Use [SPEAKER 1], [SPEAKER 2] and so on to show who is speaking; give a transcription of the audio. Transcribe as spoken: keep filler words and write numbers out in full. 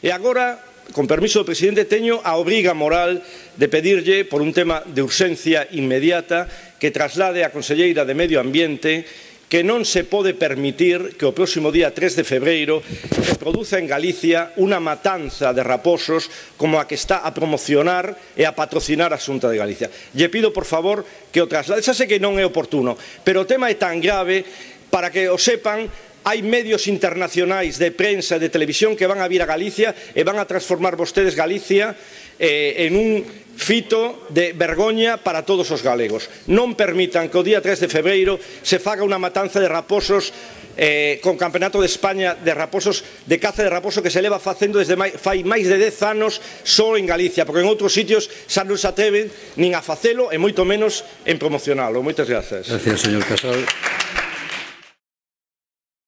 [SPEAKER 1] E agora, con permiso do presidente, teño a obriga moral de pedirlle, por un tema de urxencia inmediata, que traslade á conselleira de Medio Ambiente que non se pode permitir que o próximo día tres de febreiro se produza en Galicia unha matanza de raposos como a que está a promocionar e a patrocinar a Xunta de Galicia. Lle pido, por favor, que o traslade. Xa sei que non é oportuno, pero o tema é tan grave, para que o sepan, hai medios internacionais de prensa e de televisión que van a vir a Galicia e van a transformar vostedes Galicia eh, en un fito de vergoña para todos os galegos. Non permitan que o día tres de febreiro se faga unha matanza de raposos eh, con Campeonato de España de raposos, de caza de raposo que se leva facendo desde mai, fai máis de dez anos só en Galicia, porque en outros sitios xa non se atreven nin a facelo e moito menos en promocionalo. Moitas grazas.
[SPEAKER 2] Gracias, señor Casal.